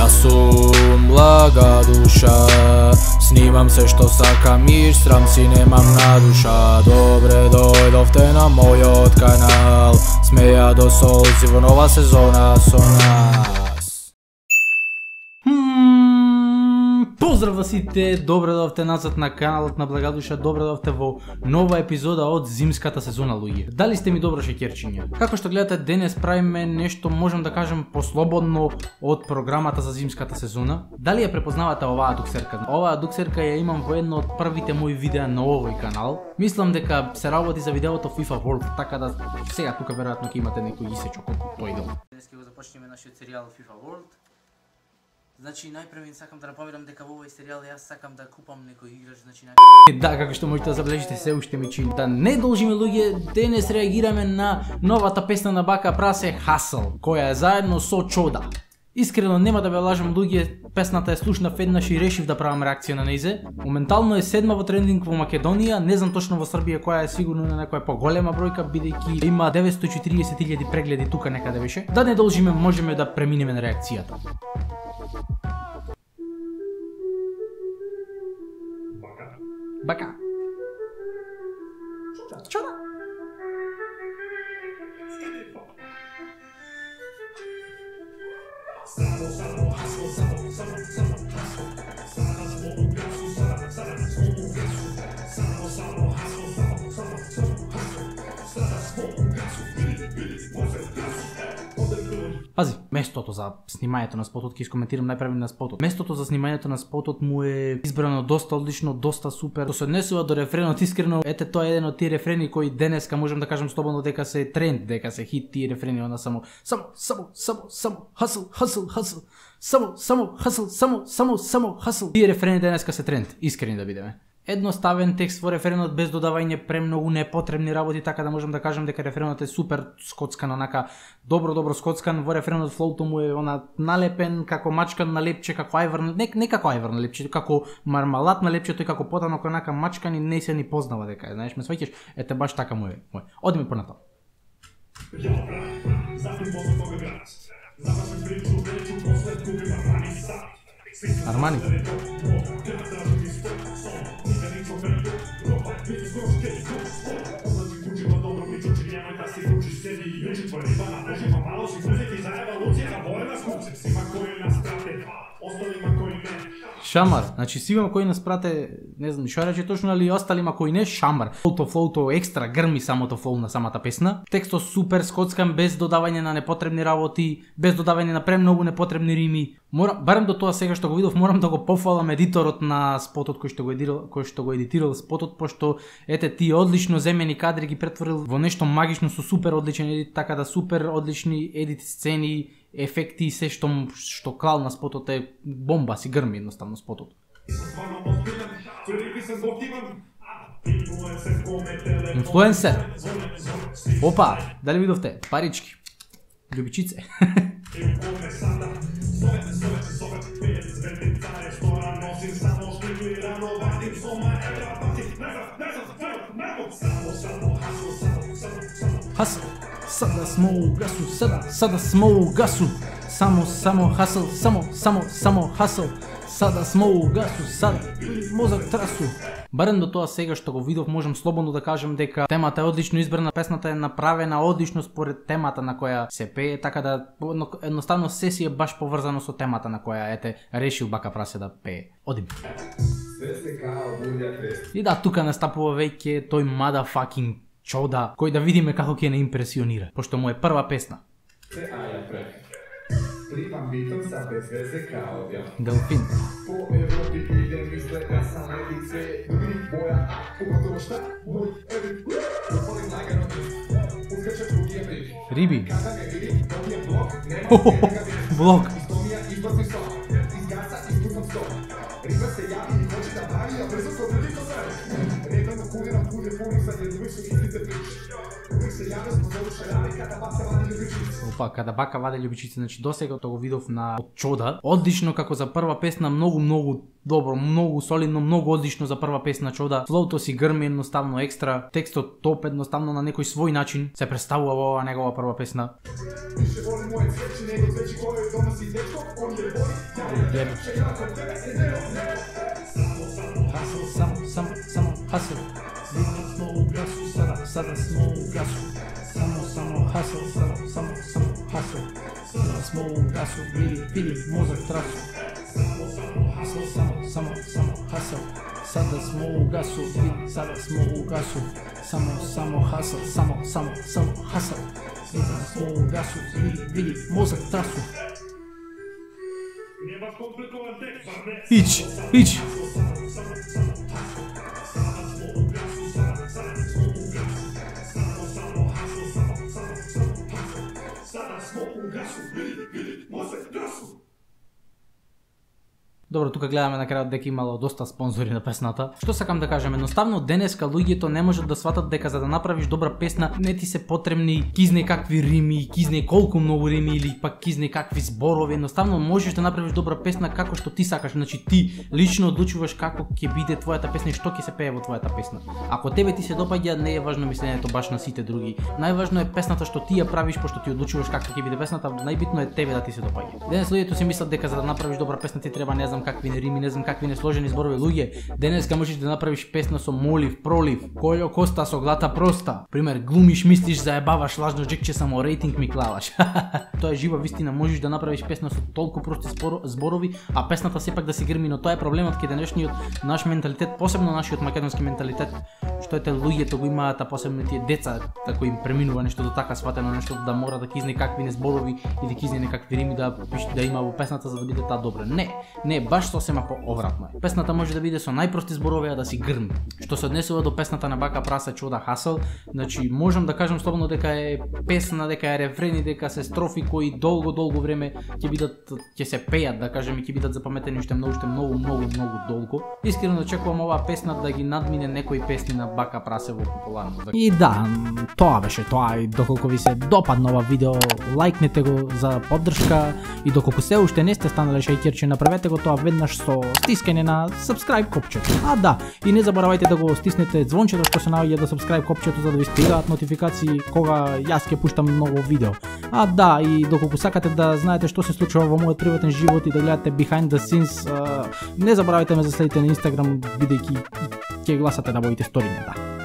Јас сум блага душа, снимам се што сакам и срам си немам на душа. Добре дојдовте на мојот канал, смеја до солзи во нова сезона со нас. Поздрав сите, добре дојдовте назад на каналот на Благадуша, добре дојдовте во нова епизода од зимската сезона, луѓе. Дали сте ми добро шеќерчиња? Како што гледате, денес правиме нешто, можам да кажем, послободно од програмата за зимската сезона. Дали ја препознавате оваа дуксерка? Оваа дуксерка ја имам во едно од првите мои видеа на овој канал. Мислам дека се работи за видеото FIFA World, така да сега тука веројатно ќе имате некој исечок колку тој дел. Денес ќе го започнеме нашиот серијал FIFA World. Значи, најпрви сакам да напоминам дека во овој серијал јас сакам да купам некој играч, значи Да, како што можете да забележите, се уште ми чини. Да не должиме, луѓе, денес реагираме на новата песна на Бака Прасе Hustle, која е заедно со Чода. Искрено нема да ве лажам, луѓе, песната е слушнав еднаш и решив да правам реакција на нејзе. Моментално е седма во трендинг во Македонија, не знам точно во Србија која е, сигурно на некоја поголема бројка, бидејќи има 940.000 прегледи тука некаде беше. Да не должиме, можеме да преминеме на реакцијата. Бака. Чода. Пази, местото за снимањето на спотот, ќе искоментирам најпрви на спотот. Местото за снимањето на спотот му е избрано доста одлично, доста супер. Тоа се однесува до рефренот, искрено, ете тоа е еден од тие рефрени кои денеска можам да кажам слободно дека се тренд, дека се хит тие рефрени, она само hustle. Тие рефрени денеска се тренд, искрени да бидеме. Едноставен текст во рефренот без додавање премногу непотребни работи, така да можам да кажам дека рефренот е супер скоцкан, онака добро скоцкан. Во рефренот флоуто му е она налепен како мачкан на лепче, како ајвар, не како ајвар на лепче, како мармалат на лепчето и како потано онака мачкан и не се ни познава дека е, знаеш, ме сваќаш, ете баш така му е. Одиме понатаму. Армани. Шамар, значи сима кој нас прате, не знам што рече точно, али осталима кој не, шамар. Флоуто екстра грми самото флоу на самата песна. Текстот супер скоцкан, без додавање на непотребни работи, без додавање на премногу непотребни рими. Барем до тоа сега што го видов, морам да го пофалам едиторот на спотот кој што го едитирал спотот, пошто ете тие одлично земени кадри ги претворил во нешто магично со супер одличен едит, така да супер одлични едит сцени, ефекти и се што клал на спотот е бомба, си грми едноставно спотот. Инфлуенсер. Опа, дали видовте? Парички. Љубичице. Хасл. Сада смо у гасу, сада смо у гасу. Само хасл, само хасл. Сада смо у гасу, сада мозак трасу. Барем до тоа сега што го видов, можам слободно да кажам дека темата е одлично избрана, песната е направена одлично според темата на која се пее, така да едноставно се си е баш поврзано со темата на која ете решил Бака Прасе да пее. Одим. И да, тука настапува веќе тој motherfucking Чода, кој да видиме како ќе не импресионира, пошто му е прва песна. Делфин. Риби. Влог. Опа, када Бака ваде љубичици, значи досега тоа го видов на Чода. Одлично како за прва песна, многу добро, многу солидно, многу одлично за прва песна Чода. Флоуто си грми едноставно екстра, текстот топ едноставно на некој свој начин се представува во оваа негова прва песна. Само хасел. Много гасу, sada smo u gasu. Samo hustle, samo hustle. Sada smo u gasu, vidi mozak trasu. Hustle, samo hustle. Sada smo u gasu, vidi, sada smo u gasu. Samo hustle, samo hustle. Sada smo u gasu, vidi mozak trasu. Ić. Добро, тука гледаме на крајот дека имало доста спонзори на песната. Што сакам да кажам, едноставно денеска луѓето не можат да сватат дека за да направиш добра песна не ти се потребни кизне какви рими, кизне колку многу рими или пак кизне какви зборови. Едноставно можеш да направиш добра песна како што ти сакаш, значи ти лично одлучуваш како ќе биде твојата песна и што ќе се пее во твојата песна. Ако тебе ти се допаѓа, не е важно мисленето баш на сите други. Најважно е песната што ти ја правиш, пошто ти одлучуваш како ќе биде песната, најбитно е тебе да ти се допаѓа. Денес луѓето си мислат дека за да направиш добра песна ти треба не знам какви рими, не знам какви несложени зборови. Луѓе, денеска можеш да направиш песна со молив, пролив, колјо коста со глата проста. Пример, глумиш, мислиш, заебаваш, лажно джекче, само рейтинг ми клаваш. Тоа е жива вистина, можеш да направиш песна со толку прости зборови, а песната сепак да се грми, но тоа е проблемот кај денешниот наш менталитет, посебно нашиот македонски менталитет, што ете луѓето го имаат, а посебно тие деца, како им преминува нештото така сватено, нешто да мора да кизне какви не зборови или кизне некакви рими да има во песната за да биде таа добра. Не, баш сосема пообратно е. Песната може да биде со најпрости зборови, а да си грми. Што се однесува до песната на Бака Прасе Чуда Хасел, значи можам да кажам слободно дека е песна, дека е рефрени, дека се строфи кои долго време ќе се пеат, да кажем, и ќе бидат запаметени уште многу долго. Искрено очекувам оваа песна да ги надмине некои песни на Бака Прасе во популарност. И да, тоа беше тоа. И доколку ви се допадна ова видео, лајкнете го за поддршка и доколку се уште не сте станале шејкерче, направете го тоа веднаш со стискање на subscribe копчето. А да, и не заборавајте да го стиснете звончето што се наоѓа до subscribe копчето за да ви стигаат нотификации кога јас ќе пуштам ново видео. А да, и доколку сакате да знаете што се случува во мојот приватен живот и да гледате behind the scenes, не заборавајте ме да следите на Instagram, бидејќи ќе гласате да водите сториња, да.